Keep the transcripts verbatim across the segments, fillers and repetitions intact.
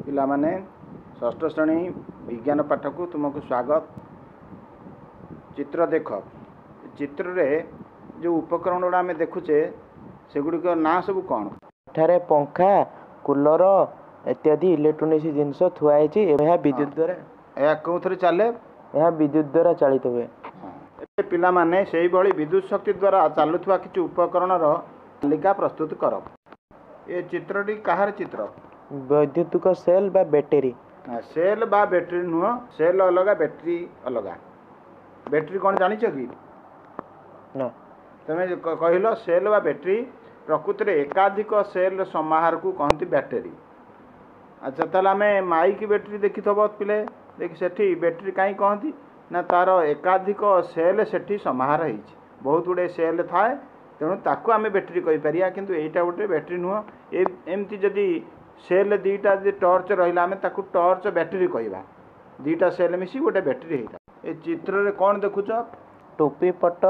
ପିଲାମାନେ, ଷଷ୍ଠ ଶ୍ରେଣୀ ବିଜ୍ଞାନ ପାଠକୁ ତୁମକୁ ସ୍ୱାଗତ। ଚିତ୍ର ଦେଖ। ଚିତ୍ରରେ ଯେଉଁ ଉପକରଣ ଗୁଡ଼ା ଆମେ ଦେଖୁଛେ, ସେଗୁଡ଼ିକ ନାଁ ସବୁ କ'ଣ? ଏଠାରେ ପଙ୍ଖା, କୁଲର ଇତ୍ୟାଦି ଇଲେକ୍ଟ୍ରୋନିକ୍ସ ଜିନିଷ ଥୁଆ ହେଇଛି। ଏହା ବିଦ୍ୟୁତ ଦ୍ୱାରା। ଏହା କେଉଁଥିରେ ଚାଲେ? ଏହା ବିଦ୍ୟୁତ ଦ୍ୱାରା ଚାଳିତ ହୁଏ। ଏବେ ପିଲାମାନେ, ସେଇଭଳି ବିଦ୍ୟୁତ ଶକ୍ତି ଦ୍ୱାରା ଚାଲୁଥିବା କିଛି ଉପକରଣର ତାଲିକା ପ୍ରସ୍ତୁତ କର। ଏ ଚିତ୍ରଟି କାହାର ଚିତ୍ର? ବୈଦ୍ୟୁତିକ ସେଲ୍ ବା ବ୍ୟାଟେରୀ। ସେଲ୍ ବା ବ୍ୟାଟେରୀ ନୁହଁ, ସେଲ୍ ଅଲଗା, ବ୍ୟାଟେରୀ ଅଲଗା। ବ୍ୟାଟେରୀ କ'ଣ ଜାଣିଛ କି? ନା। ତମେ କହିଲ ସେଲ୍ ବା ବ୍ୟାଟେରୀ। ପ୍ରକୃତରେ ଏକାଧିକ ସେଲ୍ର ସମାହାରକୁ କହନ୍ତି ବ୍ୟାଟେରୀ। ଆଚ୍ଛା, ତାହେଲେ ଆମେ ମାଇକ୍ ବ୍ୟାଟେରୀ ଦେଖିଥିବ ପିଲେ। ଦେଖି, ସେଠି ବ୍ୟାଟେରୀ କାହିଁ କହନ୍ତି ନା ତା'ର ଏକାଧିକ ସେଲ୍ ସେଠି ସମାହାର ହେଇଛି, ବହୁତ ଗୁଡ଼ିଏ ସେଲ୍ ଥାଏ, ତେଣୁ ତାକୁ ଆମେ ବ୍ୟାଟେରୀ କହିପାରିବା। କିନ୍ତୁ ଏଇଟା ଗୋଟେ ବ୍ୟାଟେରୀ ନୁହଁ। ଏମିତି ଯଦି ସେଲ୍ ଦୁଇଟା ଯଦି ଟର୍ଚ୍ଚ ରହିଲା, ଆମେ ତାକୁ ଟର୍ଚ୍ଚ ବ୍ୟାଟେରୀ କହିବା। ଦୁଇଟା ସେଲ୍ ମିଶି ଗୋଟେ ବ୍ୟାଟେରୀ ହେଇଥାଏ। ଏ ଚିତ୍ରରେ କ'ଣ ଦେଖୁଛ? ଟୋପି ପଟ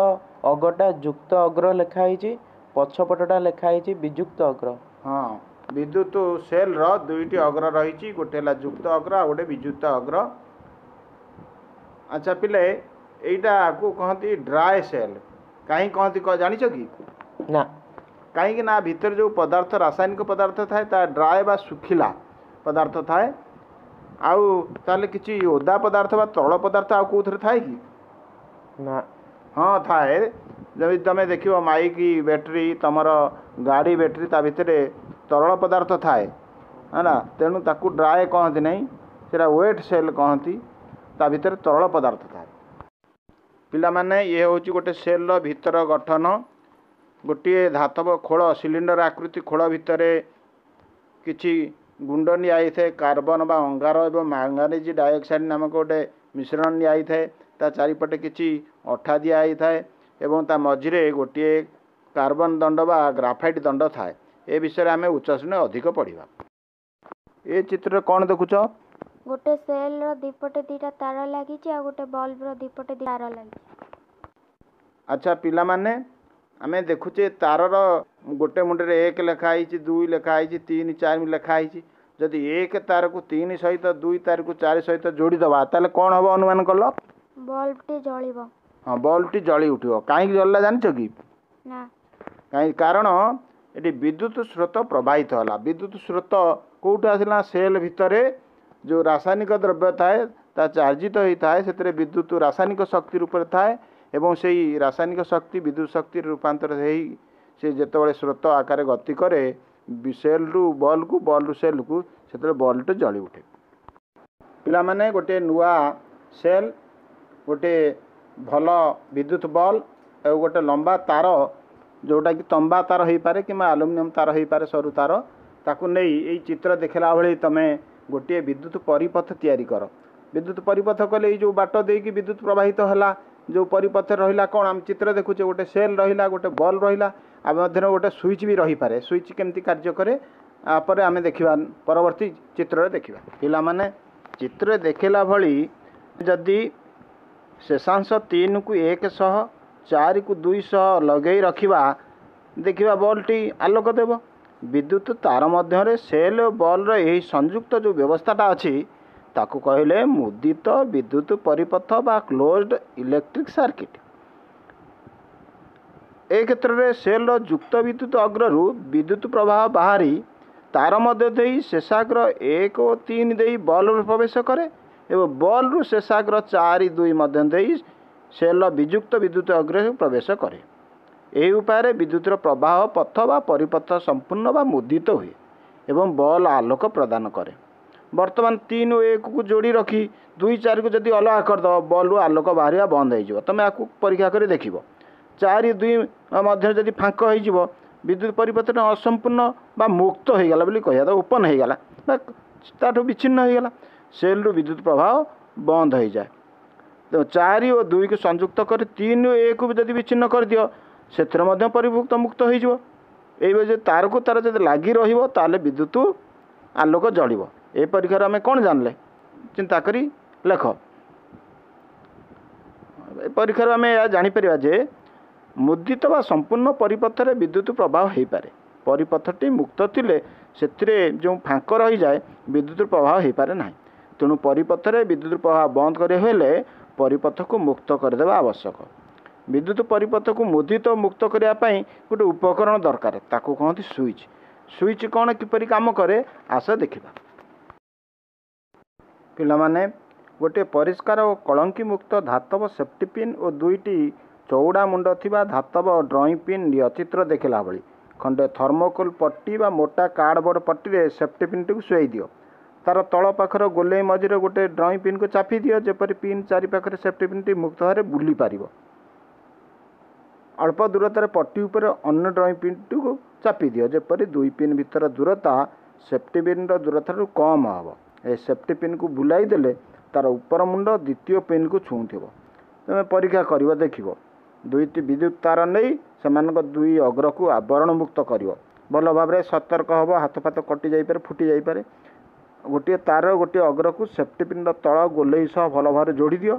ଅଗଟା ଯୁକ୍ତ ଅଗ୍ର ଲେଖା ହେଇଛି, ପଛ ପଟଟା ଲେଖା ହେଇଛି ବିଯୁକ୍ତ ଅଗ୍ର। ହଁ, ବିଦ୍ୟୁତ ସେଲ୍ର ଦୁଇଟି ଅଗ୍ର ରହିଛି, ଗୋଟେ ହେଲା ଯୁକ୍ତ ଅଗ୍ର ଆଉ ଗୋଟେ ବିଯୁକ୍ତ ଅଗ୍ର। ଆଚ୍ଛା ପିଲେ, ଏଇଟାକୁ କହନ୍ତି ଡ୍ରାଏ ସେଲ୍। କାହିଁ କହନ୍ତି ଜାଣିଛ କି? ନା। କାହିଁକି ନା ଭିତରେ ଯେଉଁ ପଦାର୍ଥ, ରାସାୟନିକ ପଦାର୍ଥ ଥାଏ, ତା ଡ୍ରାଏ ବା ଶୁଖିଲା ପଦାର୍ଥ ଥାଏ। ଆଉ ତାହେଲେ କିଛି ଓଦା ପଦାର୍ଥ ବା ତରଳ ପଦାର୍ଥ ଆଉ କେଉଁଥିରେ ଥାଏ କି? ନା। ହଁ, ଥାଏ। ଯଦି ତୁମେ ଦେଖିବ ମାଇକ୍ ବ୍ୟାଟେରୀ, ତୁମର ଗାଡ଼ି ବ୍ୟାଟେରୀ, ତା ଭିତରେ ତରଳ ପଦାର୍ଥ ଥାଏ, ହେଲା। ତେଣୁ ତାକୁ ଡ୍ରାଏ କହନ୍ତି ନାହିଁ, ସେଇଟା ୱେଟ୍ ସେଲ୍ କହନ୍ତି। ତା ଭିତରେ ତରଳ ପଦାର୍ଥ ଥାଏ। ପିଲାମାନେ, ଇଏ ହେଉଛି ଗୋଟେ ସେଲ୍ର ଭିତର ଗଠନ। ଗୋଟିଏ ଧାତବ ଖୋଳ, ସିଲିଣ୍ଡର ଆକୃତି ଖୋଳ ଭିତରେ କିଛି ଗୁଣ୍ଡ ନିଆଯାଇଥାଏ, କାର୍ବନ ବା ଅଙ୍ଗାର ଏବଂ ମାଙ୍ଗାନିଜ୍ ଡାଇଅକ୍ସାଇଡ଼ ନାମକ ଗୋଟେ ମିଶ୍ରଣ ନିଆଯାଇଥାଏ। ତା ଚାରିପଟେ କିଛି ଅଠା ଦିଆଯାଇଥାଏ ଏବଂ ତା ମଝିରେ ଗୋଟିଏ କାର୍ବନ ଦଣ୍ଡ ବା ଗ୍ରାଫାଇଟ୍ ଦଣ୍ଡ ଥାଏ। ଏ ବିଷୟରେ ଆମେ ଉଚ୍ଚ ଶ୍ରେଣୀରେ ଅଧିକ ପଢ଼ିବା। ଏ ଚିତ୍ରରେ କ'ଣ ଦେଖୁଛ? ଗୋଟେ ସେଲ୍ର ଦିପଟେ ଦିଟା ତାର ଲାଗିଛି ଆଉ ଗୋଟେ ବଲ୍ବର ଦିପଟେ ତାର ଲାଗିଛି। ଆଚ୍ଛା ପିଲାମାନେ, ଆମେ ଦେଖୁଛେ ତାରର ଗୋଟେ ମୁଣ୍ଡରେ ଏକ ଲେଖା ହେଇଛି, ଦୁଇ ଲେଖା ହେଇଛି, ତିନି, ଚାରି ଲେଖା ହେଇଛି। ଯଦି ଏକ ତାରକୁ ତିନି ସହିତ, ଦୁଇ ତାରକୁ ଚାରି ସହିତ ଯୋଡ଼ିଦେବା, ତାହେଲେ କ'ଣ ହେବ ଅନୁମାନ କଲ? ବଲ୍ବଟି ଜଳିବ। ହଁ, ବଲ୍ବଟି ଜଳି ଉଠିବ। କାହିଁକି ଜଳିଲା ଜାଣିଛ କି? ନା। କାହିଁ? କାରଣ ଏଠି ବିଦ୍ୟୁତ ସ୍ରୋତ ପ୍ରବାହିତ ହେଲା। ବିଦ୍ୟୁତ ସ୍ରୋତ କେଉଁଠୁ ଆସିଲା? ସେଲ୍ ଭିତରେ ଯେଉଁ ରାସାୟନିକ ଦ୍ରବ୍ୟ ଥାଏ, ତା ଚାର୍ଜିତ ହୋଇଥାଏ, ସେଥିରେ ବିଦ୍ୟୁତ ରାସାୟନିକ ଶକ୍ତି ରୂପରେ ଥାଏ ଏବଂ ସେଇ ରାସାୟନିକ ଶକ୍ତି ବିଦ୍ୟୁତ ଶକ୍ତିରେ ରୂପାନ୍ତର ହେଇ ସେ ଯେତେବେଳେ ସ୍ରୋତ ଆକାରରେ ଗତି କରେ ସେଲ୍ରୁ ବଲ୍କୁ, ବଲ୍ରୁ ସେଲ୍କୁ, ସେତେବେଳେ ବଲ୍ଟି ଜଳି ଉଠେ। ପିଲାମାନେ, ଗୋଟିଏ ନୂଆ ସେଲ୍, ଗୋଟିଏ ଭଲ ବିଦ୍ୟୁତ ବଲ୍ ଆଉ ଗୋଟେ ଲମ୍ବା ତାର, ଯେଉଁଟାକି ତମ୍ବା ତାର ହେଇପାରେ କିମ୍ବା ଆଲୁମିନିୟମ ତାର ହେଇପାରେ, ସରୁ ତାର, ତାକୁ ନେଇ ଏଇ ଚିତ୍ର ଦେଖିଲା ଭଳି ତୁମେ ଗୋଟିଏ ବିଦ୍ୟୁତ ପରିପଥ ତିଆରି କର। ବିଦ୍ୟୁତ ପରିପଥ କଲେ ଏଇ ଯେଉଁ ବାଟ ଦେଇକି ବିଦ୍ୟୁତ ପ୍ରବାହିତ ହେଲା, ଯେଉଁ ପରିପଥରେ ରହିଲା କ'ଣ? ଆମେ ଚିତ୍ର ଦେଖୁଛେ, ଗୋଟେ ସେଲ୍ ରହିଲା, ଗୋଟେ ବଲ୍ ରହିଲା, ଆଉ ମଧ୍ୟରେ ଗୋଟେ ସୁଇଚ୍ ବି ରହିପାରେ। ସୁଇଚ୍ କେମିତି କାର୍ଯ୍ୟ କରେ ପରେ ଆମେ ଦେଖିବା, ପରବର୍ତ୍ତୀ ଚିତ୍ରରେ ଦେଖିବା। ପିଲାମାନେ, ଚିତ୍ରରେ ଦେଖିଲା ଭଳି ଯଦି ଶେଷାଂଶ ତିନିକୁ ଏକ ସହ, ଚାରିକୁ ଦୁଇଶହ ଲଗେଇ ରଖିବା, ଦେଖିବା ବଲ୍ଟି ଆଲୋକ ଦେବ। ବିଦ୍ୟୁତ ତାର ମଧ୍ୟରେ ସେଲ୍ ଓ ବଲ୍ର ଏହି ସଂଯୁକ୍ତ ଯେଉଁ ବ୍ୟବସ୍ଥାଟା ଅଛି, ତାକୁ କହିଲେ ମୁଦିତ ବିଦ୍ୟୁତ ପରିପଥ ବା କ୍ଲୋଜ୍ଡ ଇଲେକ୍ଟ୍ରିକ୍ ସାର୍କିଟ୍। ଏ କ୍ଷେତ୍ରରେ ସେଲ୍ର ଯୁକ୍ତ ବିଦ୍ୟୁତ ଅଗ୍ରରୁ ବିଦ୍ୟୁତ ପ୍ରବାହ ବାହାରି ତାର ମଧ୍ୟ ଦେଇ ଶେଷାଗ୍ର ଏକ ଓ ତିନି ଦେଇ ବଲ୍ରେ ପ୍ରବେଶ କରେ ଏବଂ ବଲ୍ରୁ ଶେଷାଗ୍ର ଚାରି ଦୁଇ ମଧ୍ୟ ଦେଇ ସେଲ୍ର ବିଯୁକ୍ତ ବିଦ୍ୟୁତ ଅଗ୍ରରେ ପ୍ରବେଶ କରେ। ଏହି ଉପାୟରେ ବିଦ୍ୟୁତର ପ୍ରବାହ ପଥ ବା ପରିପଥ ସମ୍ପୂର୍ଣ୍ଣ ବା ମୁଦିତ ହୁଏ ଏବଂ ବଲ୍ ଆଲୋକ ପ୍ରଦାନ କରେ। ବର୍ତ୍ତମାନ ତିନି ଓ ଏକକୁ ଯୋଡ଼ି ରଖି ଦୁଇ ଚାରିକୁ ଯଦି ଅଲଗା କରିଦେବ, ବଲ୍ରୁ ଆଲୋକ ବାହାରିବା ବନ୍ଦ ହେଇଯିବ। ତୁମେ ଆକୁ ପରୀକ୍ଷା କରି ଦେଖିବ। ଚାରି ଦୁଇ ମଧ୍ୟରେ ଯଦି ଫାଙ୍କ ହେଇଯିବ, ବିଦ୍ୟୁତ ପରିପଥଟା ଅସମ୍ପୂର୍ଣ୍ଣ ବା ମୁକ୍ତ ହେଇଗଲା ବୋଲି କହିବା, ଓପନ୍ ହେଇଗଲା ବା ତାଠୁ ବିଚ୍ଛିନ୍ନ ହେଇଗଲା, ସେଲ୍ରୁ ବିଦ୍ୟୁତ ପ୍ରବାହ ବନ୍ଦ ହେଇଯାଏ। ତ ଚାରି ଓ ଦୁଇକୁ ସଂଯୁକ୍ତ କରି ତିନି ଓ ଏକକୁ ବି ଯଦି ବିଚ୍ଛିନ୍ନ କରିଦିଅ, ସେଥିରେ ମଧ୍ୟ ପରିମୁକ୍ତ ମୁକ୍ତ ହେଇଯିବ। ଏଇଭଳି ଯଦି ତାରକୁ ତାର ଯଦି ଲାଗି ରହିବ, ତାହେଲେ ବିଦ୍ୟୁତ ଆଲୋକ ଜଳିବ। ଏ ପରୀକ୍ଷାରୁ ଆମେ କ'ଣ ଜାଣିଲେ? ଚିନ୍ତା କରି ଲେଖ। ଏ ପରୀକ୍ଷାରୁ ଆମେ ଏହା ଜାଣିପାରିବା ଯେ ମୁଦ୍ରିତ ବା ସମ୍ପୂର୍ଣ୍ଣ ପରିପଥରେ ବିଦ୍ୟୁତ ପ୍ରବାହ ହେଇପାରେ। ପରିପଥଟି ମୁକ୍ତ ଥିଲେ ସେଥିରେ ଯେଉଁ ଫାଙ୍କ ରହିଯାଏ ବିଦ୍ୟୁତ ପ୍ରବାହ ହୋଇପାରେ ନାହିଁ। ତେଣୁ ପରିପଥରେ ବିଦ୍ୟୁତ ପ୍ରବାହ ବନ୍ଦ କରିବାକୁ ହେଲେ ପରିପଥକୁ ମୁକ୍ତ କରିଦେବା ଆବଶ୍ୟକ। ବିଦ୍ୟୁତ ପରିପଥକୁ ମୁଦିତ ମୁକ୍ତ କରିବା ପାଇଁ ଗୋଟେ ଉପକରଣ ଦରକାର, ତାକୁ କହନ୍ତି ସୁଇଚ୍। ସୁଇଚ୍ କ'ଣ, କିପରି କାମ କରେ, ଆସ ଦେଖିବା। ପିଲାମାନେ, ଗୋଟିଏ ପରିଷ୍କାର ଓ କଳଙ୍କି ମୁକ୍ତ ଧାତବ ସେଫ୍ଟି ପିନ୍ ଓ ଦୁଇଟି ଚଉଡ଼ା ମୁଣ୍ଡ ଥିବା ଧାତବ ଡ୍ରଇଂ ପିନ୍ ନିଅ, ଚିତ୍ର ଦେଖିଲା ଭଳି। ଖଣ୍ଡେ ଥର୍ମୋକୋଲ୍ ପଟି ବା ମୋଟା କାର୍ଡ଼ବୋର୍ଡ଼ ପଟିରେ ସେଫ୍ଟି ପିନ୍ଟିକୁ ଶୁଆଇ ଦିଅ। ତା'ର ତଳ ପାଖର ଗୋଲେଇ ମଝିରେ ଗୋଟେ ଡ୍ରଇଂ ପିନ୍କୁ ଚାପି ଦିଅ, ଯେପରି ପିନ୍ ଚାରି ପାଖରେ ସେଫ୍ଟି ପିନ୍ଟି ମୁକ୍ତ ଭାବରେ ବୁଲି ପାରିବ। ଅଳ୍ପ ଦୂରତାରେ ପଟି ଉପରେ ଅନ୍ୟ ଡ୍ରଇଂ ପିନ୍ଟିକୁ ଚାପି ଦିଅ, ଯେପରି ଦୁଇ ପିନ୍ ଭିତର ଦୂରତା ସେଫ୍ଟି ପିନ୍ର ଦୂରତାଠାରୁ କମ୍ ହେବ। ଏ ସେଫ୍ଟି ପିନ୍କୁ ବୁଲାଇ ଦେଲେ ତା'ର ଉପର ମୁଣ୍ଡ ଦ୍ୱିତୀୟ ପିନ୍କୁ ଛୁଉଁଥିବ। ତୁମେ ପରୀକ୍ଷା କରିବ, ଦେଖିବ। ଦୁଇଟି ବିଦ୍ୟୁତ ତାର ନେଇ ସେମାନଙ୍କ ଦୁଇ ଅଗ୍ରକୁ ଆବରଣ ମୁକ୍ତ କରିବ। ଭଲ ଭାବରେ ସତର୍କ ହେବ, ହାତ ଫାତ କଟି ଯାଇପାରେ, ଫୁଟି ଯାଇପାରେ। ଗୋଟିଏ ତାର ଗୋଟିଏ ଅଗ୍ରକୁ ସେଫ୍ଟି ପିନ୍ର ତଳ ଗୋଲେଇ ସହ ଭଲ ଭାବରେ ଯୋଡ଼ି ଦିଅ।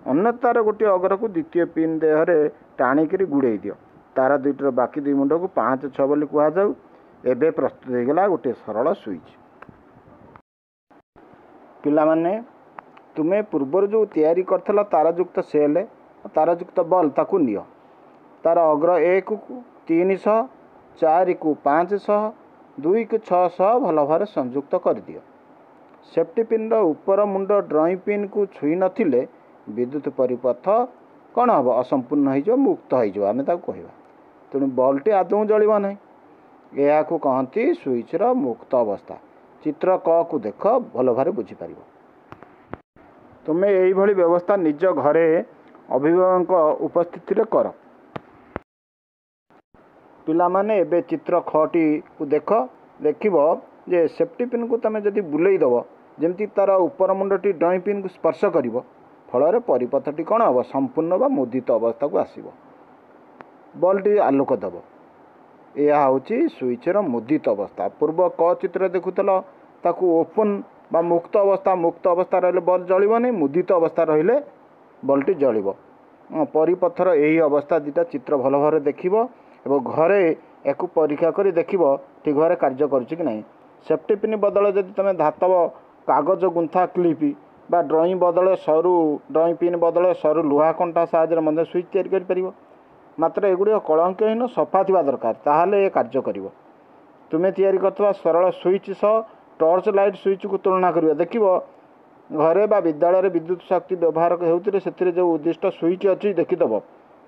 ଅନ୍ୟ ତାର ଗୋଟିଏ ଅଗ୍ରକୁ ଦ୍ୱିତୀୟ ପିନ୍ ଦେହରେ ଟାଣିକିରି ଗୁଡ଼େଇ ଦିଅ। ତାର ଦୁଇଟିର ବାକି ଦୁଇ ମୁଣ୍ଡକୁ ପାଞ୍ଚ ଛଅ ବୋଲି କୁହାଯାଉ। ଏବେ ପ୍ରସ୍ତୁତ ହୋଇଗଲା ଗୋଟିଏ ସରଳ ସୁଇଚ୍। ପିଲାମାନେ, ତୁମେ ପୂର୍ବରୁ ଯେଉଁ ତିଆରି କରିଥିଲ ତାରଯୁକ୍ତ ସେଲ୍, ତାରଯୁକ୍ତ ବଲ୍, ତାକୁ ନିଅ। ତାର ଅଗ୍ର ଏକକୁ ତିନିଶହ, ଚାରିକୁ ପାଞ୍ଚଶହ, ଦୁଇକୁ ଛଅଶହ ଭଲ ଭାବରେ ସଂଯୁକ୍ତ କରିଦିଅ। ସେଫ୍ଟି ପିନ୍ର ଉପର ମୁଣ୍ଡ ଡ୍ରଇଂ ପିନ୍କୁ ଛୁଇଁ ନଥିଲେ ବିଦ୍ୟୁତ ପରିପଥ କ'ଣ ହେବ? ଅସମ୍ପୂର୍ଣ୍ଣ ହେଇଯିବ, ମୁକ୍ତ ହେଇଯିବ ଆମେ ତାକୁ କହିବା। ତେଣୁ ବଲ୍ଟି ଆଦୌ ଜଳିବ ନାହିଁ। ଏହାକୁ କହନ୍ତି ସୁଇଚ୍ର ମୁକ୍ତ ଅବସ୍ଥା। ଚିତ୍ର କକୁ ଦେଖ, ଭଲ ଭାବରେ ବୁଝିପାରିବ। ତୁମେ ଏଇଭଳି ବ୍ୟବସ୍ଥା ନିଜ ଘରେ ଅଭିଭାବକଙ୍କ ଉପସ୍ଥିତିରେ କର। ପିଲାମାନେ, ଏବେ ଚିତ୍ର ଖଟିକୁ ଦେଖ। ଦେଖିବ ଯେ ସେଫ୍ଟି ପିନ୍କୁ ତୁମେ ଯଦି ବୁଲେଇ ଦେବ, ଯେମିତି ତା'ର ଉପର ମୁଣ୍ଡଟି ଡ୍ରଇଂ ପିନ୍କୁ ସ୍ପର୍ଶ କରିବ, ଫଳରେ ପରିପଥଟି କ'ଣ ହେବ? ସମ୍ପୂର୍ଣ୍ଣ ବା ମୁଦିତ ଅବସ୍ଥାକୁ ଆସିବ, ବଲ୍ଟି ଆଲୋକ ଦେବ। ଏହା ହେଉଛି ସୁଇଚ୍ର ମୁଦିତ ଅବସ୍ଥା। ପୂର୍ବ କ ଚିତ୍ର ଦେଖୁଥିଲ, ତାକୁ ଓପନ୍ ବା ମୁକ୍ତ ଅବସ୍ଥା। ମୁକ୍ତ ଅବସ୍ଥା ରହିଲେ ବଲ୍ ଜଳିବନି, ମୁଦିତ ଅବସ୍ଥା ରହିଲେ ବଲ୍ଟି ଜଳିବ। ପରିପଥର ଏହି ଅବସ୍ଥା ଦୁଇଟା ଚିତ୍ର ଭଲ ଭାବରେ ଦେଖିବ ଏବଂ ଘରେ ଏହାକୁ ପରୀକ୍ଷା କରି ଦେଖିବ ଠିକ୍ ଭାବରେ କାର୍ଯ୍ୟ କରୁଛି କି ନାହିଁ। ସେଫ୍ଟି ପିନ୍ ବଦଳରେ ଯଦି ତୁମେ ଧାତବ କାଗଜ ଗୁନ୍ଥା କ୍ଲିପ୍ ବା ଡ୍ରଇଂ ବଦଳରେ ସରୁ ଡ୍ରଇଂ ପିନ୍ ବଦଳରେ ସରୁ ଲୁହା କଣ୍ଟା ସାହାଯ୍ୟରେ ମଧ୍ୟ ସୁଇଚ୍ ତିଆରି କରିପାରିବ। ମାତ୍ର ଏଗୁଡ଼ିକ କଳଙ୍କହୀନ ସଫା ଥିବା ଦରକାର, ତାହେଲେ ଏ କାର୍ଯ୍ୟ କରିବ। ତୁମେ ତିଆରି କରିଥିବା ସରଳ ସୁଇଚ୍ ସହ ଟର୍ଚ୍ଚ ଲାଇଟ୍ ସୁଇଚ୍କୁ ତୁଳନା କରିବ। ଦେଖିବ, ଘରେ ବା ବିଦ୍ୟାଳୟରେ ବିଦ୍ୟୁତ ଶକ୍ତି ବ୍ୟବହାର ହେଉଥିଲେ ସେଥିରେ ଯେଉଁ ଉଦ୍ଦିଷ୍ଟ ସୁଇଚ୍ ଅଛି ଦେଖିଦେବ।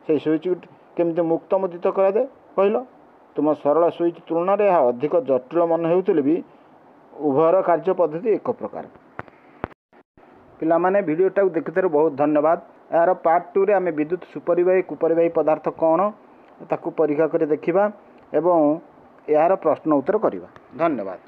ସେଇ ସୁଇଚ୍ କେମିତି ମୁକ୍ତ ମୁଦିତ କରାଯାଏ କହିଲ? ତୁମ ସରଳ ସୁଇଚ୍ ତୁଳନାରେ ଏହା ଅଧିକ ଜଟିଳ ମନେ ହେଉଥିଲେ ବି ଉଭୟର କାର୍ଯ୍ୟ ପଦ୍ଧତି ଏକ ପ୍ରକାର। ପିଲାମାନେ, ଭିଡ଼ିଓଟାକୁ ଦେଖିଥିବାରୁ ବହୁତ ଧନ୍ୟବାଦ। ଏହାର ପାର୍ଟ ଟୁରେ ଆମେ ବିଦ୍ୟୁତ ସୁପରିବାହୀ କୁପରିବାହୀ ପଦାର୍ଥ କ'ଣ ତାକୁ ପରୀକ୍ଷା କରି ଦେଖିବା ଏବଂ ଏହାର ପ୍ରଶ୍ନ ଉତ୍ତର କରିବା। ଧନ୍ୟବାଦ।